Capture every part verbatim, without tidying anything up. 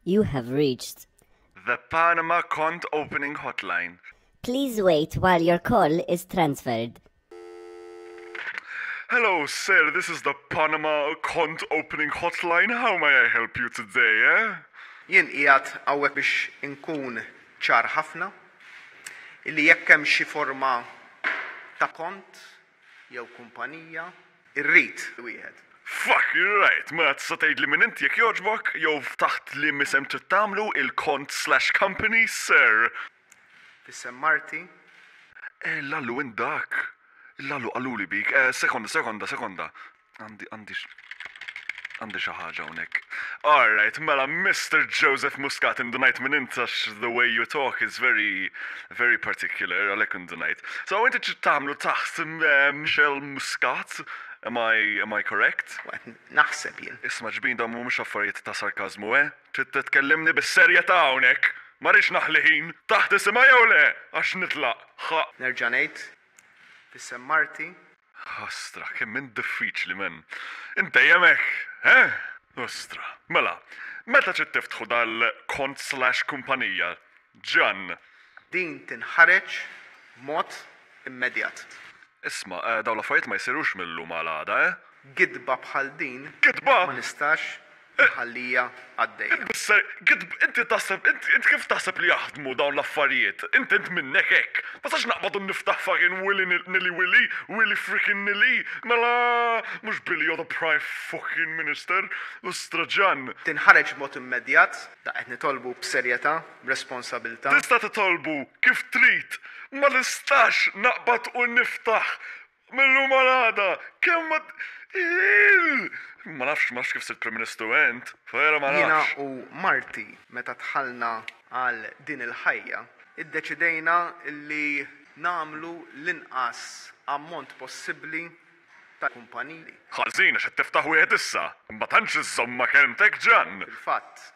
You have reached The Panama Kont Opening Hotline. Please wait while your call is transferred. Hello, sir. This is the Panama Kont Opening Hotline. How may I help you today, eh? Jien qiegħed hawnhekk biex inkun ċar ħafna illi jekk hemm xi forma ta' kont jew kumpanija, irrid wieħed. Fuck, you're right. Ma tista' tgħidli min inti jekk jogħġbok jew taħt liema isem trid tagħmlu il-kont slash company, sir. F'isem marti. Eh, Lallu indak. Lallu qaluli bik. Eh, sekonda, sekonda, sekonda. Għandi, għandi, għandi xi ħaġa hawnhekk. All right, mela Mister Joseph Muscat, indunajt min int għax the way you talk is very, very particular, għalhekk indunajt. So inti trid tagħmlu taħt eh, Michelle Muscat, am I, am I correct? Qed naħseb jien. Isma' ġbin, dawn mhumiex affarijiet ta' sarkazmu, eh? Trid titkellimni bis-serjetà hawnhekk. Ma rridx naħli ħin. Taħt isimha jew le? Għax nitlaq. Ħa. Nerġa' ngħid, f'isem marti. Ostra, kemm int diffiċli, men. Inti hemmhekk, eh? Ostra. Mela, meta trid tiftħu dal-kont slash kumpanija? Ġan. Din tinħareġ mod immedjat. Isma', eh, dawn l-affarijiet ma jsirux mill-lum għal għada, eh? Gidba bħal din Gidba? ma nistax nħallija għaddejja. Bisser, gidb, inti taħseb, inti inti kif taħseb li jaħdmu dawn l-affarijiet? Inti int minnek hekk. Ma sax naqbad u niftaħ fucking willy nilly willy, willy freaking nilly. Mela, mhux Billy, you're the prime fucking minister. Ostra, Ġan. Tinħareġ mod immedjat, da qed nitolbu b'serjetà, b'responsabilità. Tista' titolbu kif trid, ma nistax naqbad u niftaħ mill-lum għal għada. Kemm ma Il! Ma nafx, ma nafx kif sirt Prim Ministru ent. Vera ma Jiena nafx. U marti meta dħalna għal din il-ħajja, iddeċidejna li nagħmlu l-inqas ammont possibbli ta' kumpaniji. Ħażin għax qed tiftaħ wieħed issa. Ma tantx iżżomm ma' kelmtek, Ġan. Fil-fatt,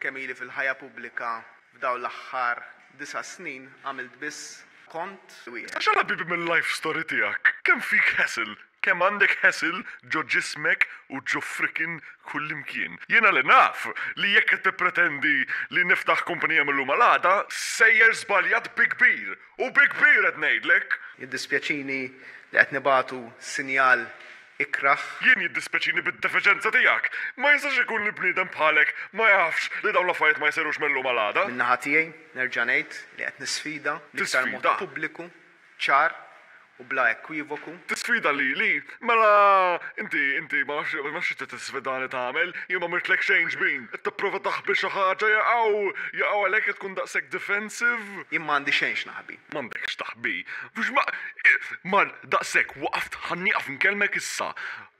kemm ili fil-ħajja pubblika f'dawn l-aħħar disa' snin għamilt biss kont wieħed. Għax għala bibi mill-life story tiegħek. Kemm fik hassle, kemm għandek hassle ġo ġismek u ġo frickin kullimkien. Jiena li naf li jekk qed tippretendi li niftaħ kumpanija mill-lum għal għada, sejjer żbaljat bi kbir. U bi kbir qed ngħidlek. Jiddispjaċini li qed nibagħtu sinjal ikraħ. Jien jiddispjaċini bid-defiċenza tiegħek. Ma jistax ikun li bniedem bħalek ma jafx li dawn l-affarijiet ma jsirux mill-lum għal għada. Min-naħa tiegħi nerġa' ngħid li qed nisfida l-iktar mod Tisfida? pubbliku, ċar u bla ekwivoku. Tisfida li li, mela inti inti ma nafx ma nafx inti tisfidani tagħmel, jien ma mirtlek xejn, ġbin. Qed tipprova taħbi xi ħaġa jaqgħu, jaqgħu għalhekk qed tkun daqshekk defensive. Jien m'għandi xejn x'naħbi. M'għandekx taħbi. Mhux ma mar daqshekk waqaft, ħa nieqaf nkellmek issa.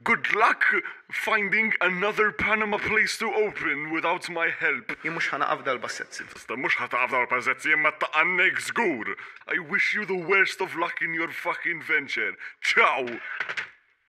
Good luck finding another Panama place to open without my help. Jien mhux ħa naqaf dal-bassezzi. Tista' mhux ħa taqaf dal-pasezzi imma taqannek żgur. I wish you the worst of luck in your fucking venture. Ciao!